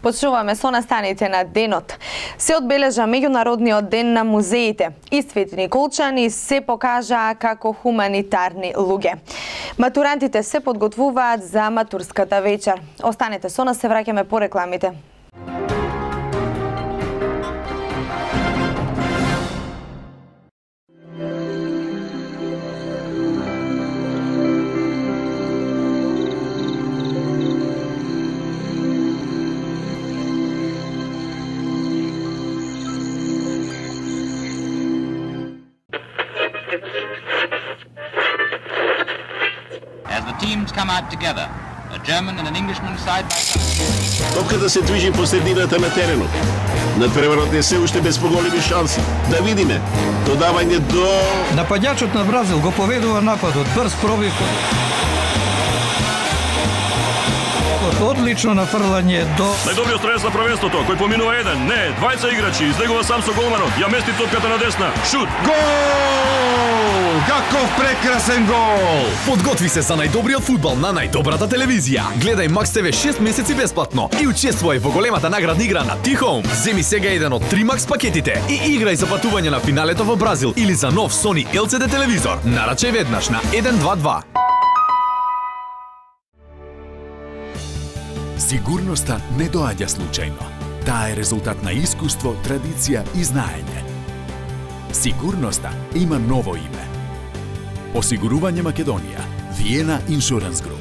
Почнуваме со настаните на денот. Се одбележа меѓународниот ден на музеите и Свети Николчани се покажаа како хуманитарни луѓе. Матурантите се подготвуваат за матурската вечер. Останете со нас, се враќаме по рекламите. As the teams come out together, a German and an Englishman side by side. Топката се движи по средината на теренот. Надпреварот е се уште без поголеми шанси. Да видиме. Додавање до... Нападјачот на Бразил го поведува нападот. Брз пробив. Одлично нафрлање до... Најдобриот стрелец на првенството, кој поминува еден, не, двајца играчи, излегува сам со голманот, ја мести топката на десна, шут! Гол! Каков прекрасен гол! Подготви се за најдобриот фудбал на најдобрата телевизија. Гледај Макс ТВ 6 месеци бесплатно и учествувај во големата наградна игра на T-Home. Земи сега еден од 3 Макс пакетите и играј за патување на финалето во Бразил или за нов Sony LCD телевизор. Нарачај веднаш на 122. Сигурноста не доаѓа случајно. Таа е резултат на искуство, традиција и знаење. Сигурноста има ново име. Осигурување Македонија. Виена Insurance Group.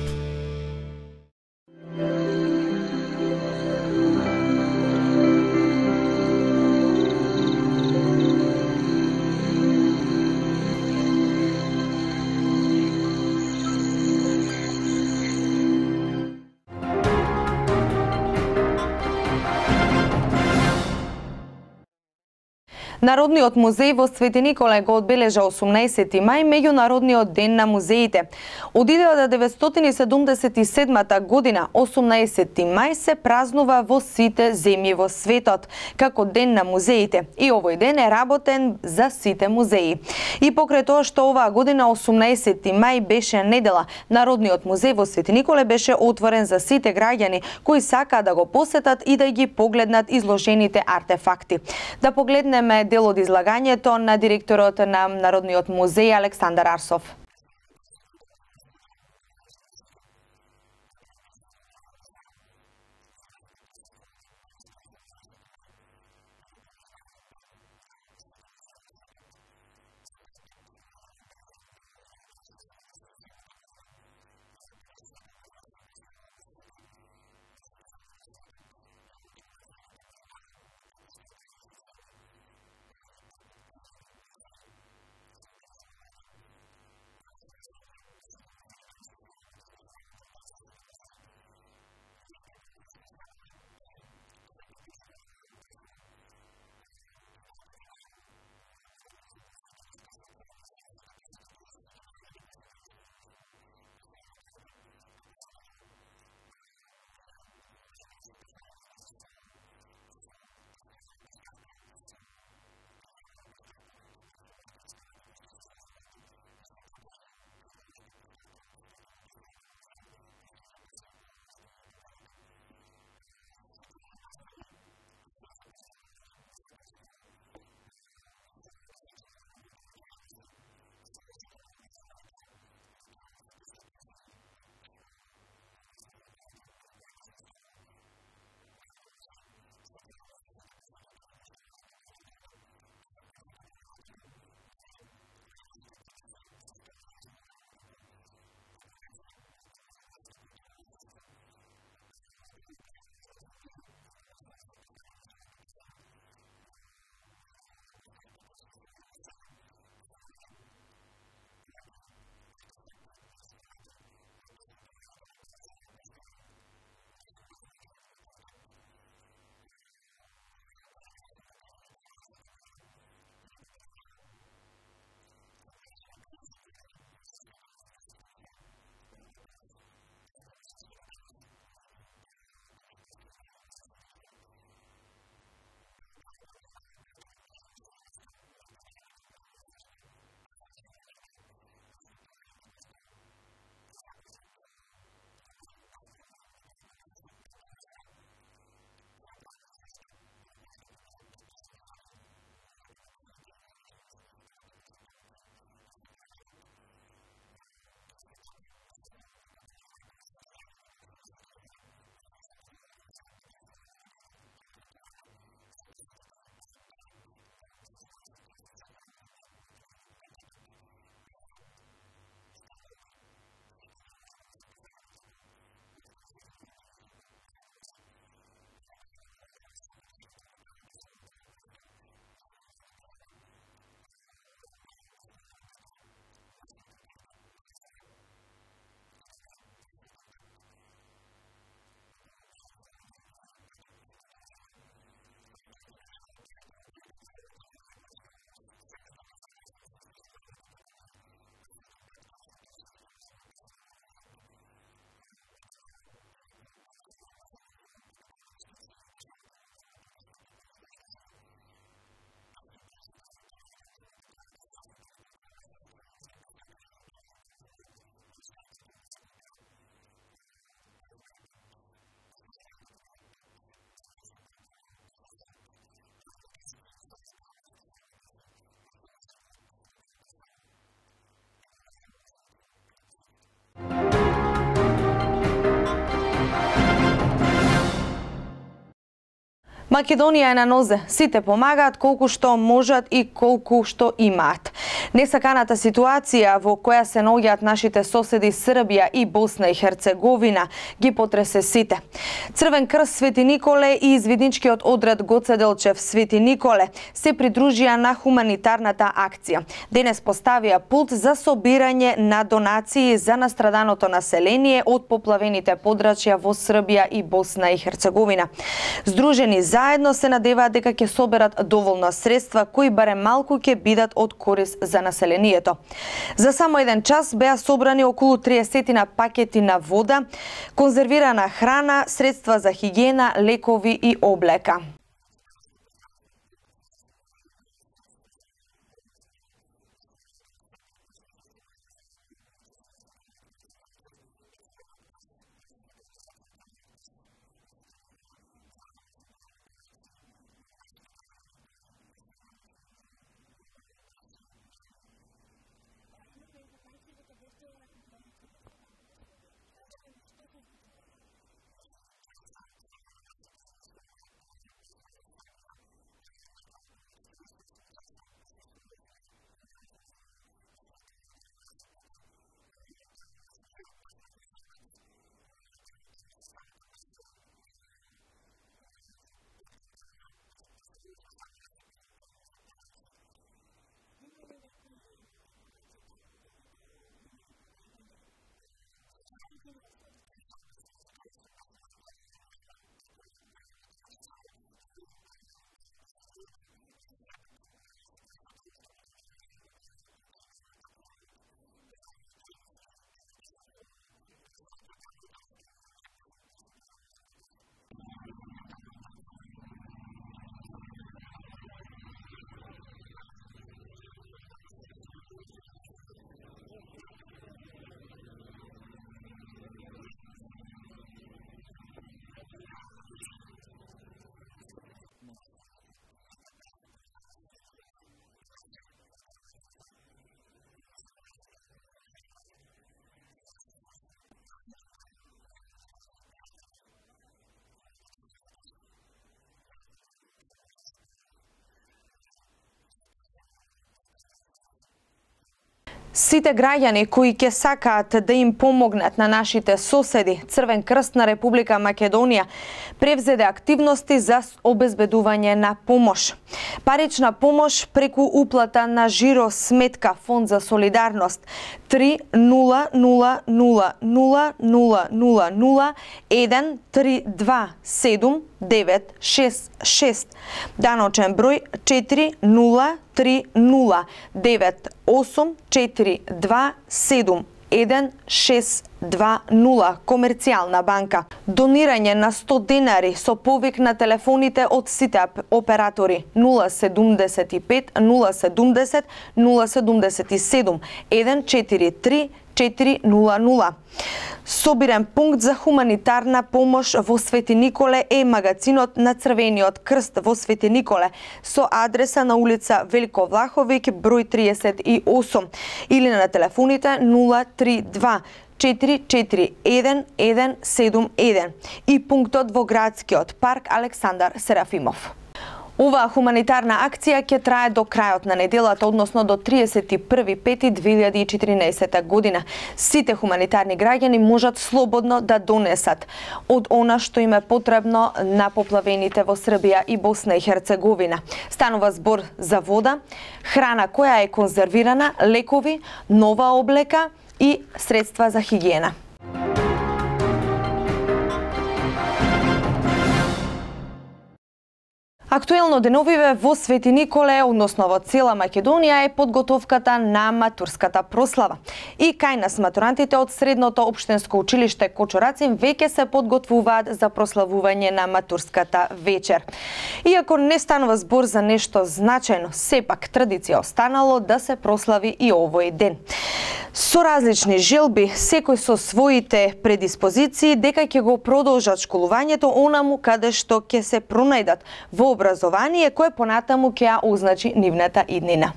Народниот музеј во Свети Николај го одбележа 18 мај меѓународниот ден на музеите. Од 1977 година 18 мај се празнува во сите земји во светот како ден на музеите и овој ден е работен за сите музеи. И покрај тоа што оваа година 18 мај беше недела, Народниот музеј во Свети Николај беше отворен за сите граѓани кои сакаат да го посетат и да ги погледнат изложените артефакти. Да погледнеме дел од излагањето на директорот на Народниот музеј Александар Арсов. Македонија е на нозе. Сите помагаат колку што можат и колку што имаат. Несаканата ситуација во која се наоѓаат нашите соседи Србија и Босна и Херцеговина ги потресе сите. Црвен крст Свети Николе и извидничкиот одред Гоце Делчев Свети Николе се придружија на хуманитарната акција. Денес поставија пулт за собирање на донации за настраданото население од поплавените подрачја во Србија и Босна и Херцеговина. Здружени заедно се надеваат дека ќе соберат доволно средства кои барем малку ќе бидат од корис за населението. За само еден час беа собрани околу 30 пакети на вода, конзервирана храна, средства за хигиена, лекови и облека. Сите граѓани кои ќе сакаат да им помогнат на нашите соседи, Црвен крст на Република Македонија превзеде активности за обезбедување на помош. Парична помош преку уплата на жиро сметка Фонд за солидарност 3000000132796, даночен број 403098427162, Комерцијална банка. Донирање на 100 денари со повик на телефоните од сите оператори 075 070 077 143 400. Собирен пункт за хуманитарна помош во Свети Николе е магазинот на Црвениот крст во Свети Николе со адреса на улица Велико Влаховик број 38 или на телефоните 032 441 и пунктот во градскиот парк Александар Серафимов. Оваа хуманитарна акција ќе трае до крајот на неделата, односно до 31.5.2014 година. Сите хуманитарни граѓани можат слободно да донесат од она што им е потребно на поплавените во Србија и Босна и Херцеговина. Станува збор за вода, храна која е конзервирана, лекови, нова облека и средства за хигиена. Актуелно деновиве во Свети Николе, односно во цела Македонија, е подготовката на матурската прослава. И кај нас матурантите од средното општинско училиште Кочурацин веќе се подготвуваат за прославување на матурската вечер. Иако не станува збор за нешто значајно, сепак традиција останало да се прослави и овој ден. Со различни желби, секој со своите предиспозиции дека ќе го продолжат школувањето онаму каде што ќе се пронајдат во образование кое понатаму ќе ја означи нивната иднина.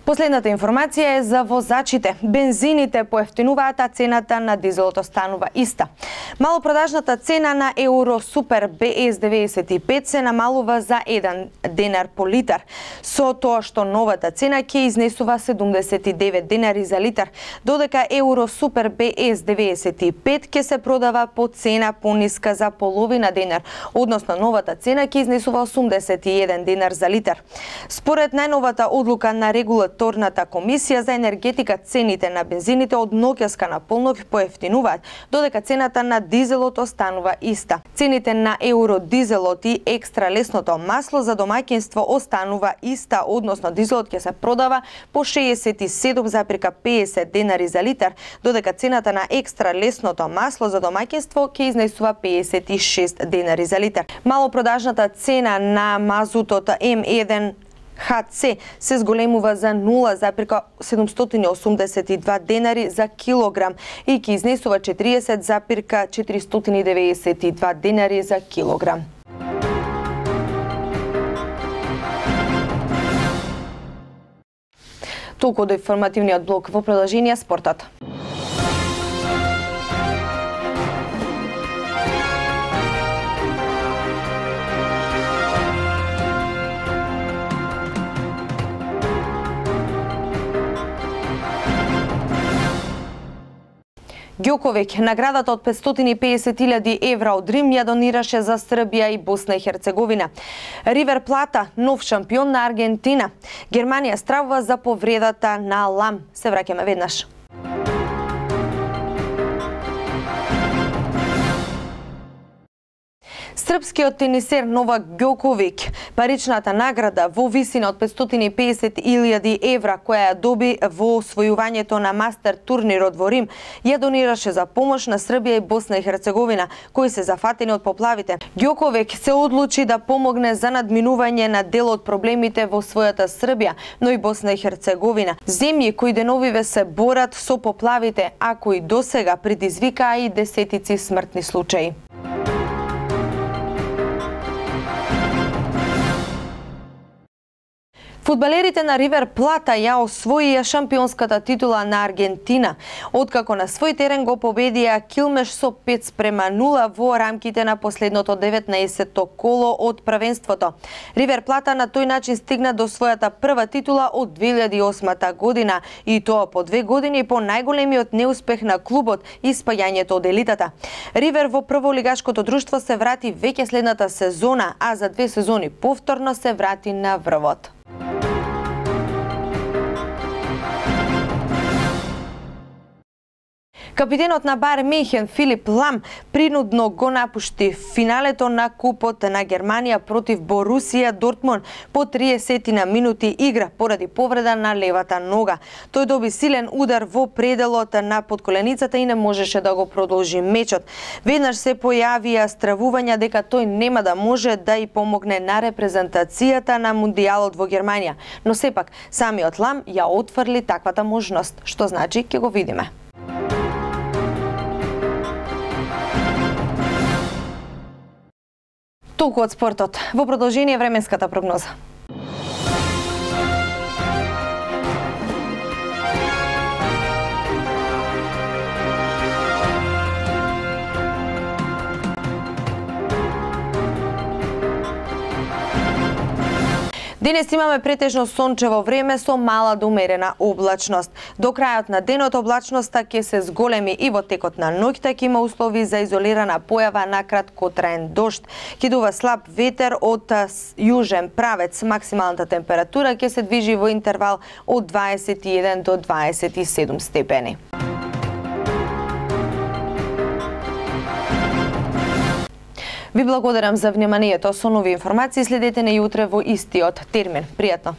Последната информација е за возачите. Бензините поевтинуваат, а цената на дизелот останува иста. Малопродажната цена на Евро Супер БС 95 се намалува за 1 денар по литар, со тоа што новата цена ќе изнесува 79 денари за литар, додека Евро Супер БС 95 ќе се продава по цена пониска за половина денар, односно новата цена ќе изнесува 81 денар за литар. Според најновата одлука на Регулаторната комисија за енергетика, цените на бензините од ноќаска на полнок поевтинуваат, додека цената на дизелот останува иста. Цените на евродизелот и екстра лесното масло за домаќинство останува иста, односно дизелот ќе се продава по 67,50 денари за литар, додека цената на екстра лесното масло за домаќинство ќе изнесува 56 денари за литар. Малопродажната цена на мазутот М1 ХЦ се зголемува за 0,782 денари за килограм и ќе изнесува 40,492 денари за килограм. Толку до информативниот блок, во продолжение спортот. Ѓоковиќ наградата од 550.000 евра од Рим ја донираше за Србија и Босна и Херцеговина. Ривер Плата, нов шампион на Аргентина. Германија стравува за повредата на Лам. Се враќаме веднаш. Српскиот тенисер Новак Ѓоковиќ паричната награда во висина од 550.000 евра која ја доби во освојувањето на мастер турнирот во Рим ја донираше за помош на Србија и Босна и Херцеговина кои се зафатени од поплавите. Ѓоковиќ се одлучи да помогне за надминување на дел од проблемите во својата Србија, но и Босна и Херцеговина, земји кои деновиве се борат со поплавите, а кои досега предизвикаа и десетици смртни случаи. Фудбалерите на Ривер Плата ја освоија шампионската титула на Аргентина, откако на свој терен го победија Килмеш со 5:0 во рамките на последното 19-то коло од првенството. Ривер Плата на тој начин стигна до својата прва титула од 2008 година и тоа по 2 години по најголемиот неуспех на клубот и спаѓањето од елитата. Ривер во прволигашкото друштво се врати веќе следната сезона, а за 2 сезони повторно се врати на врвот. Капитенот на Бајерн Мюнхен Филип Лам принудно го напушти финалето на Купот на Германија против Борусија Дортмунд по 30 минути игра поради повреда на левата нога. Тој доби силен удар во пределот на подколеницата и не можеше да го продолжи мечот. Веднаш се појавија стравувања дека тој нема да може да и помогне на репрезентацијата на Мундијалот во Германија, но сепак самиот Лам ја отфрли таквата можност, што значи ќе го видиме. Толку од спортот. Во продолжение временската прогноза. Денес имаме претежно сончево време со мала до умерена облачност. До крајот на денот облачноста ќе се зголеми и во текот на ноќта ќе има услови за изолирана појава на краткотраен дожд. Ќе дува слаб ветер од јужен правец. Максималната температура ќе се движи во интервал од 21 до 27 степени. Ви благодарам за вниманието. Со нови информации следете не утре во истиот термин. Пријатно!